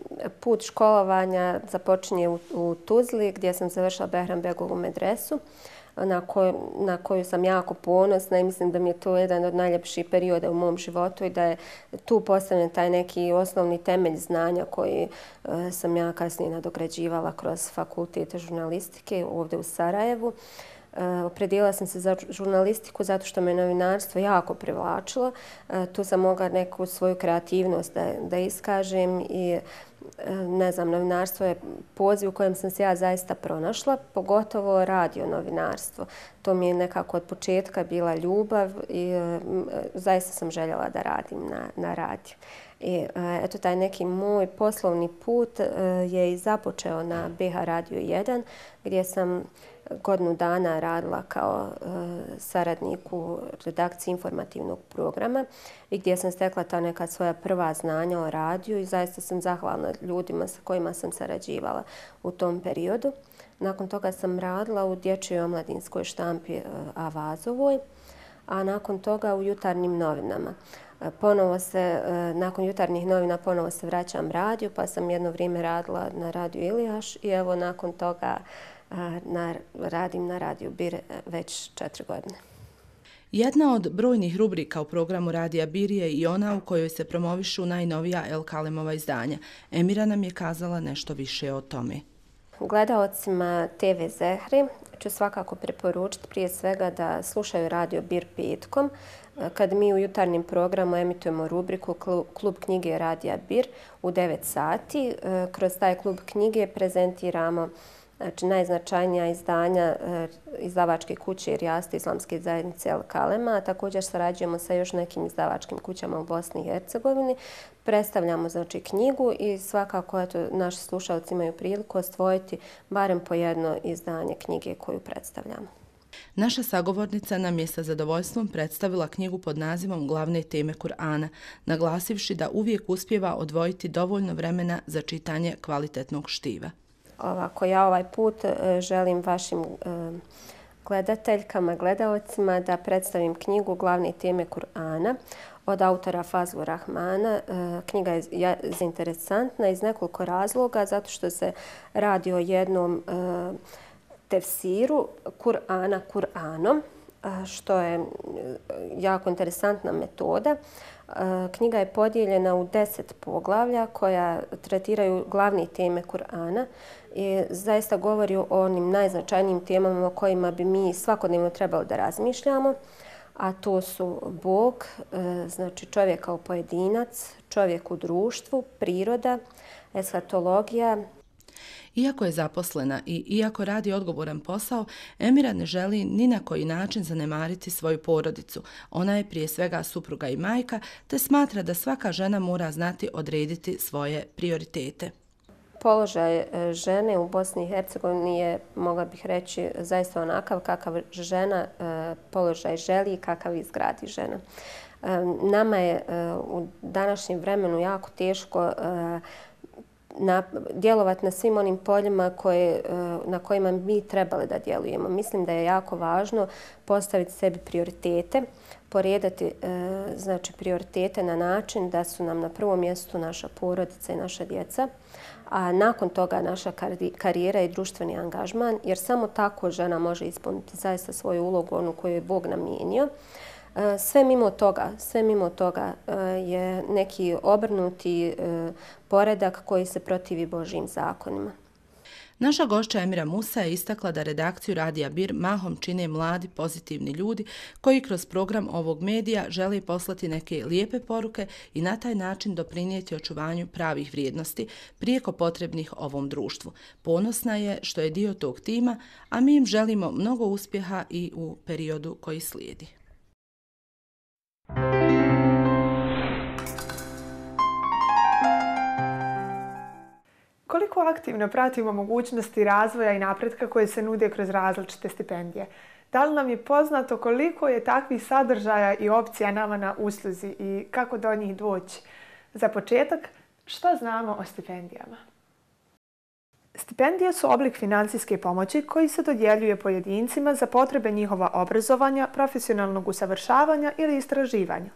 put školovanja započinje u, u Tuzli gdje sam završila Behrambegovu medresu na koju, na koju sam jako ponosna i mislim da mi je to jedan od najljepših perioda u mom životu i da je tu postavljen taj neki osnovni temelj znanja koji e, sam ja kasnije nadograđivala kroz fakultet žurnalistike ovdje u Sarajevu. Opredijelila sam se za žurnalistiku zato što me novinarstvo jako privlačilo. Tu sam mogla neku svoju kreativnost da, da iskažem i ne znam, novinarstvo je poziv u kojem sam se ja zaista pronašla, pogotovo radio novinarstvo. To mi je nekako od početka bila ljubav i zaista sam željela da radim na, na radiju. I eto, taj neki moj poslovni put je i započeo na B H Radio jedan gdje sam godinu dana radila kao saradnik u redakciji informativnog programa i gdje sam stekla ta neka svoja prva znanja o radiju i zaista sam zahvalna ljudima sa kojima sam sarađivala u tom periodu. Nakon toga sam radila u dječjoj omladinskoj štampi Avazovoj, a nakon toga u jutarnjim novinama. Ponovo se, nakon jutarnjih novina ponovo se vraćam radiju, pa sam jedno vrijeme radila na radiju Ilijaš i evo nakon toga na, radim na radiju Bir već četiri godine. Jedna od brojnih rubrika u programu Radija Bir je i ona u kojoj se promovišu najnovija El Kalemova izdanja. Emira nam je kazala nešto više o tome. Gledaocima te ve Zehre ću svakako preporučiti prije svega da slušaju Radio Bir petkom, kad mi u jutarnjem programu emitujemo rubriku Klub knjige Radija Bir u devet sati. Kroz taj klub knjige prezentiramo znači, najznačajnija izdanja izdavačke kuće Rijaste islamske zajednice El Kalema, a također sarađujemo sa još nekim izdavačkim kućama u Bosni i Hercegovini. Predstavljamo znači, knjigu i svakako eto, naši slušalci imaju priliku osvojiti barem po jedno izdanje knjige koju predstavljamo. Naša sagovornica nam je sa zadovoljstvom predstavila knjigu pod nazivom Glavne teme Kur'ana, naglasivši da uvijek uspijeva odvojiti dovoljno vremena za čitanje kvalitetnog štiva. Ovako, ja ovaj put želim vašim gledateljkama, gledaocima da predstavim knjigu Glavne teme Kur'ana od autora Fazlu Rahmana. Knjiga je interesantna iz nekoliko razloga, zato što se radi o jednom tefsiru Kur'ana Kur'anom, što je jako interesantna metoda. Knjiga je podijeljena u deset poglavlja koja tretiraju glavne teme Kur'ana i zaista govori o onim najznačajnijim temama o kojima bi mi svakodnevno trebali da razmišljamo, a to su Bog, znači čovjek kao pojedinac, čovjek u društvu, priroda, eshatologija. Iako je zaposlena i iako radi odgovoran posao, Emira ne želi ni na koji način zanemariti svoju porodicu. Ona je prije svega supruga i majka, te smatra da svaka žena mora znati odrediti svoje prioritete. Položaj žene u Bosni i Hercegovini je, mogla bih reći, zaista onakav kakav žena položaj želi i kakav izgradi žena. Nama je u današnjem vremenu jako teško Na, djelovati na svim onim poljima koje, na kojima mi trebali da djelujemo. Mislim da je jako važno postaviti sebi prioritete, poredati znači, prioritete na način da su nam na prvom mjestu naša porodica i naša djeca, a nakon toga naša karijera i društveni angažman, jer samo tako žena može ispuniti zaista svoju ulogu, onu koju je Bog namijenio. Sve mimo toga, sve mimo toga je neki obrnuti poredak koji se protivi Božjim zakonima. Naša gošća Emira Musa je istakla da redakciju Radija Bir mahom čine mladi, pozitivni ljudi koji kroz program ovog medija žele poslati neke lijepe poruke i na taj način doprinijeti očuvanju pravih vrijednosti prijeko potrebnih ovom društvu. Ponosna je što je dio tog tima, a mi im želimo mnogo uspjeha i u periodu koji slijedi. Koliko aktivno pratimo mogućnosti razvoja i napretka koje se nude kroz različite stipendije? Da li nam je poznato koliko je takvih sadržaja i opcija nama na usluzi i kako do njih doći? Za početak, Šta znamo o stipendijama? Stipendije su oblik financijske pomoći koji se dodjeljuje pojedincima za potrebe njihova obrazovanja, profesionalnog usavršavanja ili istraživanja.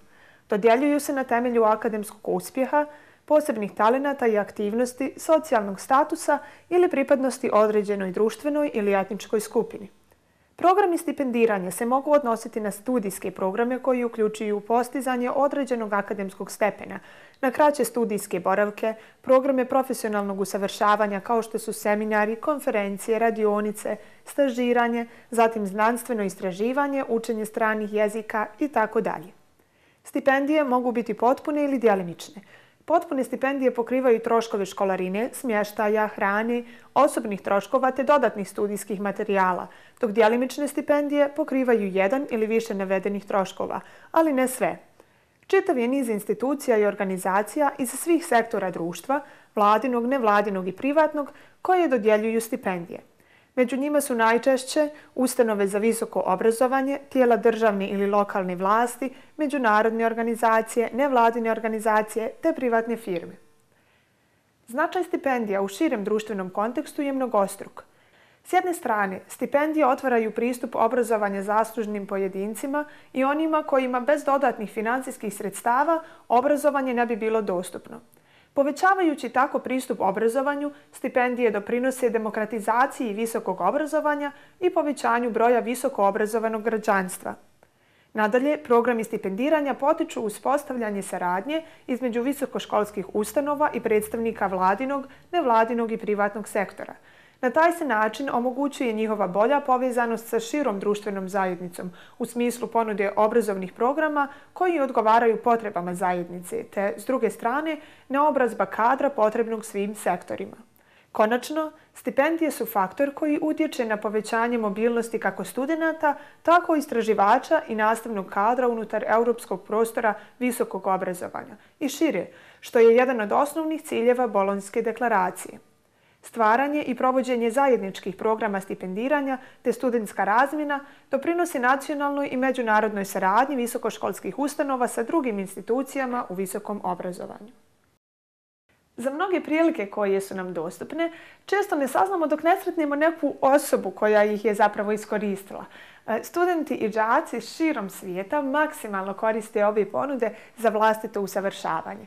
Dodjeljuju se na temelju akademskog uspjeha, posebnih talenata i aktivnosti, socijalnog statusa ili pripadnosti određenoj društvenoj ili etničkoj skupini. Programi stipendiranja se mogu odnositi na studijske programe koji uključuju postizanje određenog akademskog stepena, na kraće studijske boravke, programe profesionalnog usavršavanja kao što su seminari, konferencije, radionice, stažiranje, zatim znanstveno istraživanje, učenje stranih jezika itd. Stipendije mogu biti potpune ili djelimične. Potpune stipendije pokrivaju troškove školarine, smještaja, hrane, osobnih troškova te dodatnih studijskih materijala, dok djelimične stipendije pokrivaju jedan ili više navedenih troškova, ali ne sve. Čitav je niz institucija i organizacija iz svih sektora društva, vladinog, nevladinog i privatnog, koje dodjeljuju stipendije. Među njima su najčešće ustanove za visoko obrazovanje, tijela državne ili lokalne vlasti, međunarodne organizacije, nevladine organizacije te privatne firme. Značaj stipendija u širem društvenom kontekstu je mnogostruk. S jedne strane, stipendije otvaraju pristup obrazovanja zaslužnim pojedincima i onima kojima bez dodatnih financijskih sredstava obrazovanje ne bi bilo dostupno. Povećavajući tako pristup obrazovanju, stipendije doprinose demokratizaciji visokog obrazovanja i povećanju broja visoko obrazovanog građanstva. Nadalje, programi stipendiranja potiču uspostavljanje saradnje između visokoškolskih ustanova i predstavnika vladinog, nevladinog i privatnog sektora. Na taj se način omogućuje njihova bolja povezanost sa širom društvenom zajednicom u smislu ponude obrazovnih programa koji odgovaraju potrebama zajednice, te, s druge strane, naobrazba kadra potrebnog svim sektorima. Konačno, stipendije su faktor koji utječe na povećanje mobilnosti kako studenata, tako i istraživača i nastavnog kadra unutar europskog prostora visokog obrazovanja i šire, što je jedan od osnovnih ciljeva Bolonjske deklaracije. Stvaranje i provođenje zajedničkih programa stipendiranja te studentska razmjena doprinosi nacionalnoj i međunarodnoj saradnji visokoškolskih ustanova sa drugim institucijama u visokom obrazovanju. Za mnoge prilike koje su nam dostupne, često ne saznamo dok ne sretnemo neku osobu koja ih je zapravo iskoristila. Studenti i đaci širom svijeta maksimalno koriste ove ponude za vlastito usavršavanje.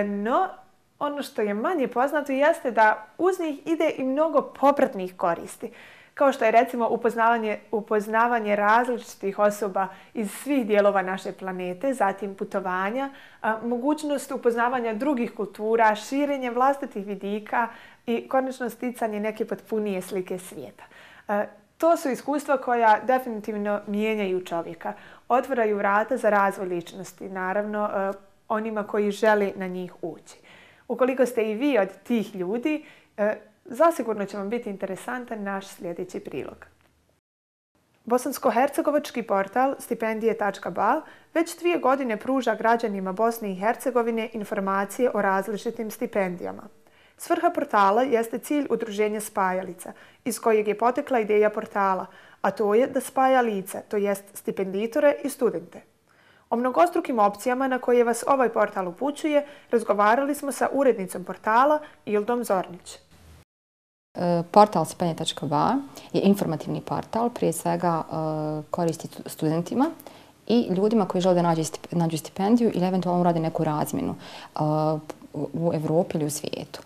No, ono što je manje poznato jeste da uz njih ide i mnogo popratnih koristi, kao što je recimo upoznavanje, upoznavanje različitih osoba iz svih dijelova naše planete, zatim putovanja, a, mogućnost upoznavanja drugih kultura, širenje vlastitih vidika i konačno sticanje neke potpunije slike svijeta. A, to su iskustva koja definitivno mijenjaju čovjeka, otvaraju vrata za razvoj ličnosti, naravno a, onima koji žele na njih ući. Ukoliko ste i vi od tih ljudi, e, zasigurno će vam biti interesantan naš sljedeći prilog. Bosansko-hercegovački portal stipendije tačka ba već dvije godine pruža građanima Bosne i Hercegovine informacije o različitim stipendijama. Svrha portala jeste cilj udruženja Spajalica, iz kojeg je potekla ideja portala, a to je da spaja lice, to jest stipenditore i studente. O mnogostrukim opcijama na koje vas ovaj portal upućuje razgovarali smo sa urednicom portala Ildom Zornić. Portal stipendije tačka ba je informativni portal, prije svega koristi studentima i ljudima koji žele da nađu stipendiju ili eventualno rade neku razmjenu u Evropi ili u svijetu.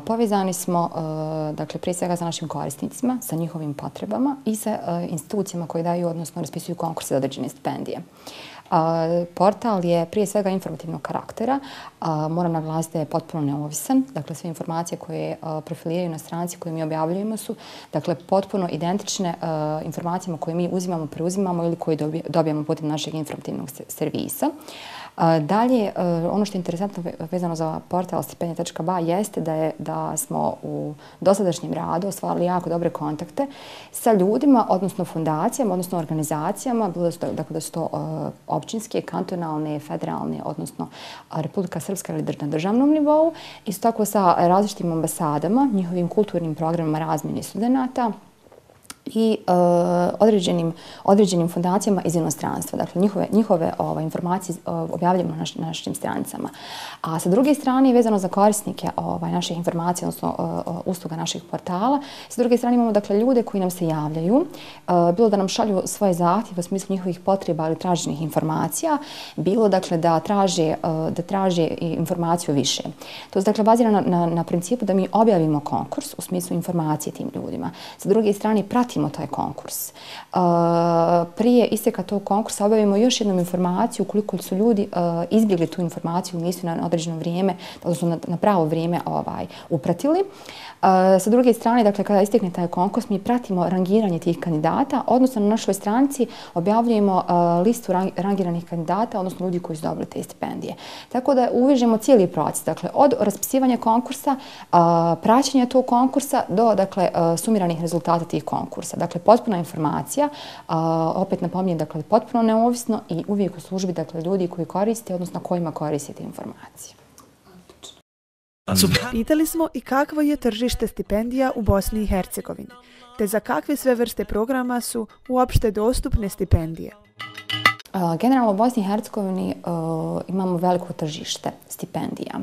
Povezani smo dakle, prije svega sa našim korisnicima, sa njihovim potrebama i sa institucijama koje daju, odnosno raspisuju konkurse za određene stipendije. Portal je prije svega informativnog karaktera. Moram naglasiti da je potpuno neovisan. Dakle, sve informacije koje profiliraju na stranici koje mi objavljujemo su dakle, potpuno identične informacijama koje mi uzimamo, preuzimamo ili koje dobijamo putem našeg informativnog servisa. Dalje, ono što je interesantno vezano za portal stipendije tačka ba jeste da, je, da smo u dosadašnjem radu ostvarili jako dobre kontakte sa ljudima, odnosno fundacijama, odnosno organizacijama, bilo da su to, dakle, da su to općinske, kantonalne, federalne, odnosno Republika Srpska ili na državnom nivou. Isto tako sa različitim ambasadama, njihovim kulturnim programima razmjene studenata, i uh, određenim, određenim fondacijama iz inostranstva. Dakle, njihove, njihove ovaj, informacije uh, objavljamo na, naš, na našim stranicama. A sa druge strane, vezano za korisnike ovaj, naših informacija, odnosno uh, usluga naših portala, sa druge strane imamo dakle, ljude koji nam se javljaju, uh, bilo da nam šalju svoje zahtjeve u smislu njihovih potreba ili traženih informacija, bilo dakle, da traže, uh, da traže informaciju više. To je dakle, bazirano na, na, na principu da mi objavimo konkurs u smislu informacije tim ljudima. Sa druge strane, pratimo taj konkurs. Uh, prije isteka tog konkursa objavimo još jednom informaciju ukoliko su ljudi uh, izbjegli tu informaciju, nisu na određeno vrijeme, odnosno na, na pravo vrijeme ovaj, upratili. Uh, sa druge strane, dakle, kada istekne taj konkurs, mi pratimo rangiranje tih kandidata, odnosno na našoj stranici objavljujemo uh, listu rang, rangiranih kandidata, odnosno ljudi koji su dobili te stipendije. Tako da uvežemo cijeli proces, dakle, od raspisivanja konkursa, uh, praćenja tog konkursa do dakle, uh, sumiranih rezultata tih konkursa. Dakle, potpuna informacija, uh, opet napominjem, dakle, potpuno neovisno i uvijek u službi dakle, ljudi koji koriste, odnosno kojima koristite informacije. Pitali smo i kakvo je tržište stipendija u Bosni i Hercegovini, te za kakve sve vrste programa su uopšte dostupne stipendije. Generalno u Bosni i Hercegovini uh, imamo veliko tržište stipendija.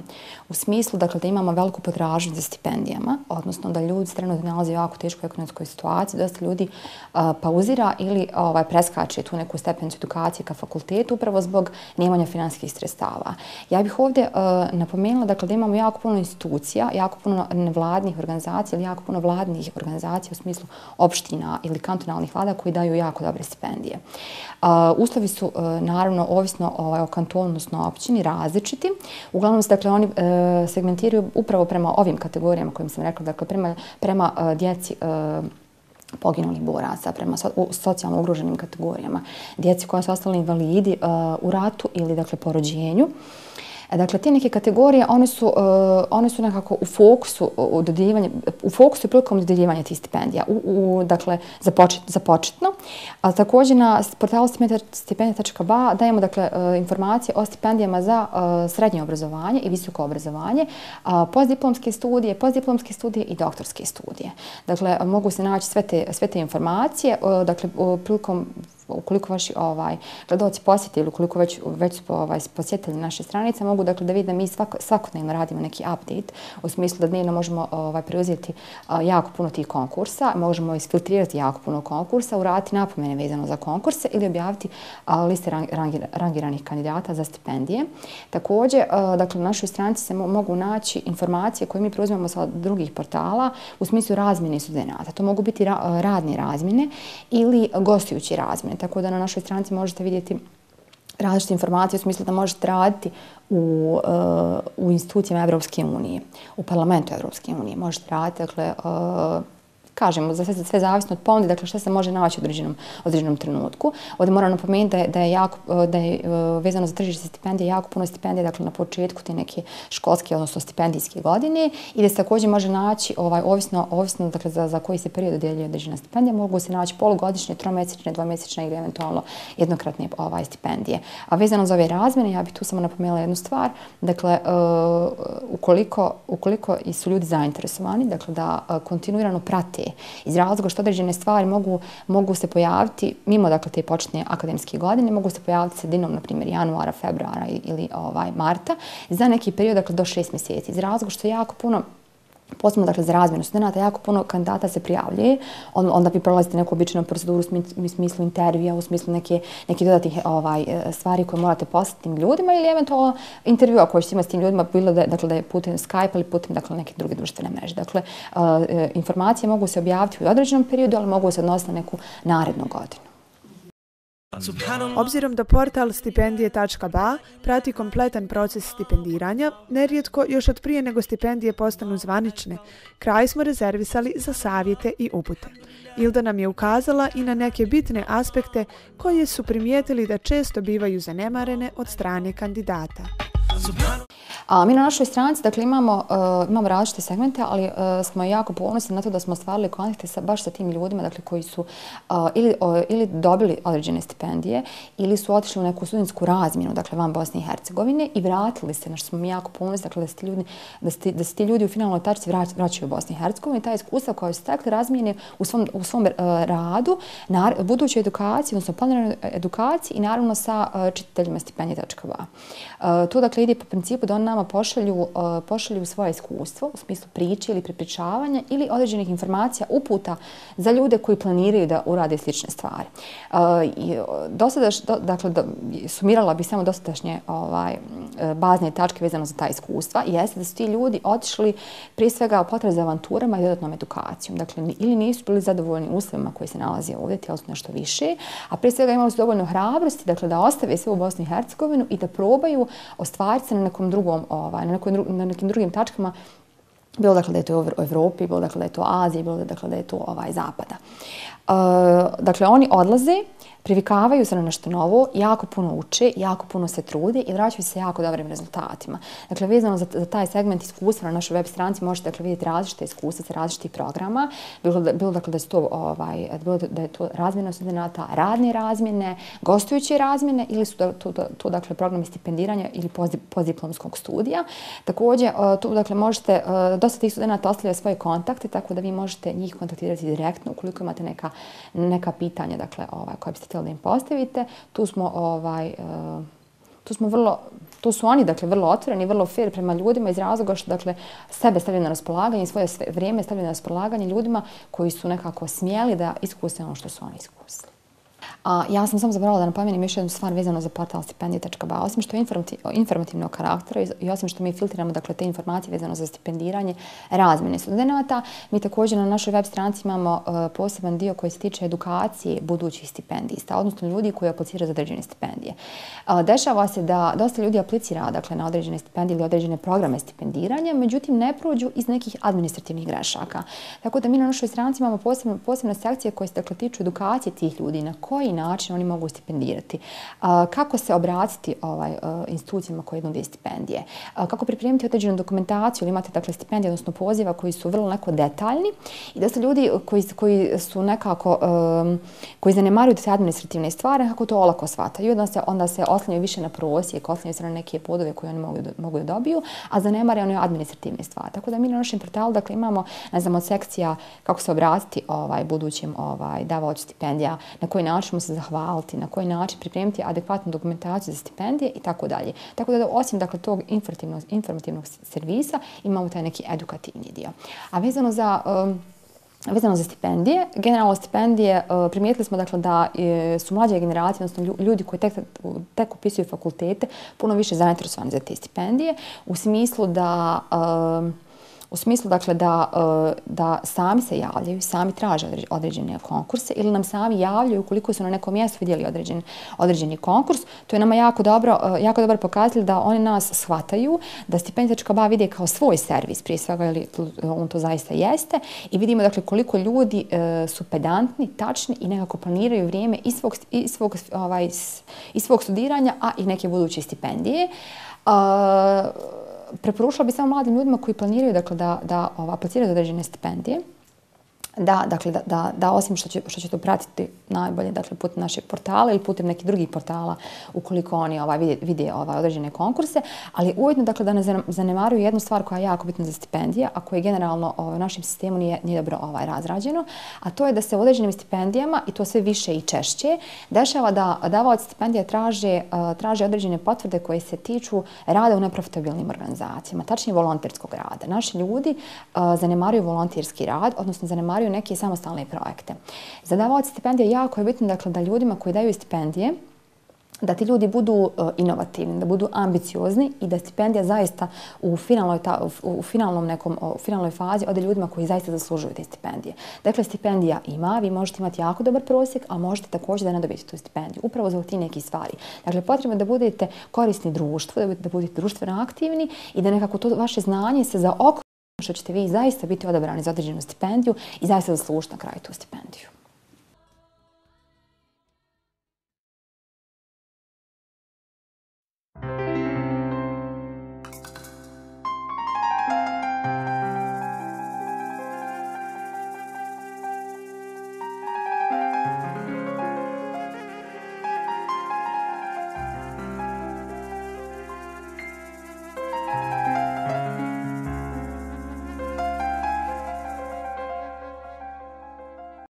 U smislu dakle, da imamo veliku potražnju za stipendijama, odnosno da ljudi se trenutno nalaze u jako teškoj ekonomskoj situaciji, dosta ljudi uh, pauzira ili ovaj, preskače tu neku stepenicu edukacije ka fakultetu upravo zbog nemanja finansijskih sredstava. Ja bih ovdje uh, napomenula dakle, da imamo jako puno institucija, jako puno nevladnih organizacija ili jako puno vladnih organizacija u smislu opština ili kantonalnih vlada koji daju jako dobre stipendije. Uh, uslovi su uh, naravno ovisno ovaj, o kantonu, odnosno općini, različiti. Uglavnom se dakle, oni uh, segmentiraju upravo prema ovim kategorijama kojim sam rekla, dakle prema, prema uh, djeci uh, poginulih boraca, prema so, u, socijalno ugroženim kategorijama, djeci koja su ostali invalidi uh, u ratu ili dakle po rođenju. Dakle, te neke kategorije, one su, uh, one su nekako u fokusu u dodjeljivanja, u fokusu prilikom dodjeljivanja tih stipendija, u, u, dakle, za, počet, za početno. A također na portalu stipendija tačka ba dajemo dakle, uh, informacije o stipendijama za uh, srednje obrazovanje i visoko obrazovanje, uh, postdiplomske studije, postdiplomske studije i doktorske studije. Dakle, mogu se naći sve te, sve te informacije, uh, dakle, uh, prilikom ukoliko vaši ovaj, gledalci posjeti ili ukoliko već, već su ovaj, posjetili naše stranice, mogu dakle, da vide da mi svako, svakodnevno radimo neki update u smislu da dnevno možemo ovaj, preuzeti uh, jako puno tih konkursa, možemo isfiltrirati jako puno konkursa, uraditi napomene vezano za konkurse ili objaviti uh, liste rang, rangir, rangiranih kandidata za stipendije. Također, uh, dakle, na našoj stranici se mo mogu naći informacije koje mi preuzimamo sa drugih portala u smislu razmjene studenata. To mogu biti ra radne razmjene ili gostujući razmjene. Tako da na našoj stranici možete vidjeti različite informacije u smislu da možete raditi u, uh, u institucijama Evropske unije, u parlamentu Evropske unije. Možete raditi, dakle, uh, kažemo, za sve, sve zavisno od ponude, dakle što se može naći u određenom, određenom trenutku. Ovdje moram napomenuti da je, da je, jako, da je uh, vezano za tržište stipendije jako puno stipendije, dakle na početku te neke školske, odnosno stipendijske godine i da se također može naći, ovaj, ovisno, ovisno dakle, za, za koji se period dodjeljuje određena stipendija, mogu se naći polugodišnje, tromjesečne, dvomjesečne ili eventualno jednokratne ovaj, stipendije. A vezano za ove razmjene, ja bih tu samo napomenula jednu stvar, dakle, uh, ukoliko, ukoliko su ljudi zainteresovani, dakle da uh, kontinuirano prate iz razloga što određene stvari mogu, mogu se pojaviti mimo dakle, te početne akademske godine, mogu se pojaviti sredinom, na primjer, januara, februara ili ovaj, marta, za neki period dakle, do šest mjeseci. Iz razloga što jako puno posebno dakle, za razmjenu studenta, jako puno kandidata se prijavljuje, onda vi prolazite neku običajnu proceduru u smislu intervjua, u smislu neke, neke dodatnih ovaj, stvari koje morate poslati tim ljudima ili eventualno intervjua koji ćete imati s tim ljudima, bilo da, dakle, da je putem Skype ili putem dakle, neke druge društvene mreže. Dakle, uh, informacije mogu se objaviti u određenom periodu, ali mogu se odnositi na neku narednu godinu. Obzirom da portal stipendije tačka ba prati kompletan proces stipendiranja, nerijetko još od prije nego stipendije postanu zvanične, kraj smo rezervisali za savjete i upute. Ilda nam je ukazala i na neke bitne aspekte koje su primijetili da često bivaju zanemarene od strane kandidata. A mi na našoj stranici dakle, imamo, uh, imamo različite segmente, ali uh, smo jako ponosni na to da smo ostvarili kontakte sa, baš sa tim ljudima dakle, koji su uh, ili, uh, ili dobili određene stipendije ili su otišli u neku studentsku razmjenu dakle, van Bosne i Hercegovine i vratili se, na što smo mi jako ponosni dakle, da, se ti ljudi, da, se, da se ti ljudi u finalnoj tačci vrać, vraćaju u Bosni i Hercegovini. Ta iskustva koja su stekli razmijene u svom, u svom uh, radu, na budućoj edukaciji, odnosno planiranoj edukaciji i naravno sa uh, čitateljima stipendije točka ba. Uh, to dakle ide po principu da on nama pošalju, uh, pošalju svoje iskustvo u smislu priče ili prepričavanja ili određenih informacija, uputa za ljude koji planiraju da urade slične stvari. Uh, i, dosadaš, do, dakle, do, sumirala bih samo dosadašnje ovaj, bazne tačke vezano za ta iskustva i jeste da su ti ljudi otišli prije svega u potrazi za avanturama i dodatnom edukacijom. Dakle, ili nisu bili zadovoljni uslovima koji se nalaze ovdje, htjeli su nešto više, a prije svega imali su dovoljno hrabrosti dakle, da ostave sve u Bosni i Hercegovinu i da probaju ostvariti se na nekom drugom, ovaj, na, nekoj, na nekim drugim tačkama, bilo dakle da je to u Evropi, bilo dakle da je to Aziji, bilo dakle da je to ovaj, Zapada. Uh, dakle, oni odlaze, privikavaju se na nešto novo, jako puno uče, jako puno se trude i vraćaju se jako dobrim rezultatima. Dakle, vezano za, za taj segment iskustva na našoj web stranici možete dakle, vidjeti različite iskustva sa različitih programa. Bilo, da, bilo dakle, da, to, ovaj, bilo da je to razmjena studenata, radne razmjene, gostujuće razmjene ili su to, to, to dakle, programi stipendiranja ili postdiplomskog studija. Također, tu dakle, možete, dosta tih studenata ostavljaju svoje kontakte, tako da vi možete njih kontaktirati direktno ukoliko imate neka, neka pitanja dakle, ovaj, koje biste htjeli da im postavite. Tu smo, ovaj, uh, tu smo vrlo, tu su oni dakle, vrlo otvoreni, vrlo fair prema ljudima iz razloga što dakle, sebe stavljaju na raspolaganje, svoje sve vrijeme stavljaju na raspolaganje ljudima koji su nekako smjeli da iskuse ono što su oni iskusili. A ja sam samo zaboravila da napomenem još jednu stvar vezano za portal stipendije točka ba. Osim što je informativnog karaktera i osim što mi filtriramo dakle, te informacije vezano za stipendiranje razmjene studenata, mi također na našoj web stranici imamo uh, poseban dio koji se tiče edukacije budućih stipendista, odnosno ljudi koji apliciraju za određene stipendije. Uh, dešava se da dosta ljudi aplicira dakle, na određene stipendije ili određene programe stipendiranja, međutim ne prođu iz nekih administrativnih grešaka. Tako da mi na našoj stranici imamo posebne, posebne sekcije koje se dakle, tiču edukacije tih ljudi, na koji način oni mogu stipendirati, kako se obratiti ovaj, institucijama koje nude stipendije, kako pripremiti određenu dokumentaciju ili imate dakle, stipendije, odnosno poziva koji su vrlo neko detaljni i da su ljudi koji, koji su nekako, um, koji zanemaruju te administrativne stvari, kako to olako shvataju, onda se, onda se oslanjaju više na prosjek, oslanjaju se na neke bodove koje oni mogu, mogu da dobiju, a zanemare one administrativne stvari. Tako da mi na našem portalu dakle, imamo, ne znam, od sekcija kako se obratiti ovaj, budućim ovaj, davaocu stipendija, na koji način se zahvaliti, na koji način pripremiti adekvatnu dokumentaciju za stipendije i tako dalje. Tako da osim dakle, tog informativnog, informativnog servisa imamo taj neki edukativni dio. A vezano za... Um, Vezano za stipendije, generalno stipendije primijetili smo dakle, da su mlađe generacije, odnosno ljudi koji tek, tek upisuju fakultete, puno više zainteresovani za te stipendije, u smislu da... Um, U smislu dakle, da, da sami se javljaju, sami traže određene konkurse ili nam sami javljaju ukoliko su na nekom mjestu vidjeli određen, određeni konkurs. To je nama jako dobro, jako dobro pokazatelj da oni nas shvataju, da stipendija točka ba vide kao svoj servis, prije svega ili on to zaista jeste. I vidimo dakle, koliko ljudi su pedantni, tačni i nekako planiraju vrijeme i svog, i svog, ovaj, i svog studiranja, a i neke buduće stipendije. Uh, Preporučila bi samo mladim ljudima koji planiraju dakle, da, da ova, apliciraju određene stipendije, da, dakle, da, da, da osim što će, što će to pratiti najbolje dakle, putem našeg portala ili putem nekih drugih portala ukoliko oni ovaj, vide, vide ovaj, određene konkurse, ali ujedno dakle, da ne zanemaruju jednu stvar koja je jako bitna za stipendije, a koja generalno ovaj, u našem sistemu nije, nije dobro ovaj, razrađeno, a to je da se u određenim stipendijama, i to sve više i češće, dešava da davaoci stipendija traže, uh, traže određene potvrde koje se tiču rada u neprofitabilnim organizacijama, tačnije volonterskog rada. Naši ljudi uh, zanemaruju volonterski rad, odnosno zanemaruju neke samostalne projekte. Za davaoci stipendije jako je bitno dakle, da ljudima koji daju stipendije, da ti ljudi budu uh, inovativni, da budu ambiciozni i da stipendija zaista u, finalnoj ta, u, u, finalnom nekom, u finalnoj fazi ode ljudima koji zaista zaslužuju te stipendije. Dakle, stipendija ima, vi možete imati jako dobar prosjek, a možete također da ne dobijete tu stipendiju. Upravo za ti neki stvari. Dakle, potrebno je da budete korisni društvu, da budete, da budete društveno aktivni i da nekako to vaše znanje se zaokruži što ćete vi zaista biti odabrani za određenu stipendiju i zaista zaslužiti na kraju tu stipendiju.